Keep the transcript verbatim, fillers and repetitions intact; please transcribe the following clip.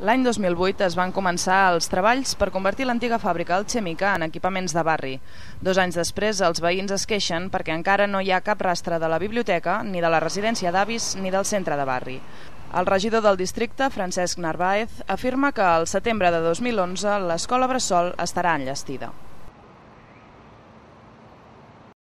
L'any dos mil vuit es van començar els treballs per convertir l'antiga fàbrica alchèmica en equipaments de barri. Dos anys després, els veïns es queixen perquè encara no hi ha cap rastre de la biblioteca, ni de la residència d'avis, ni del centre de barri. El regidor del districte, Francesc Narváez, afirma que al setembre de dos mil onze l'escola bressol estarà enllestida.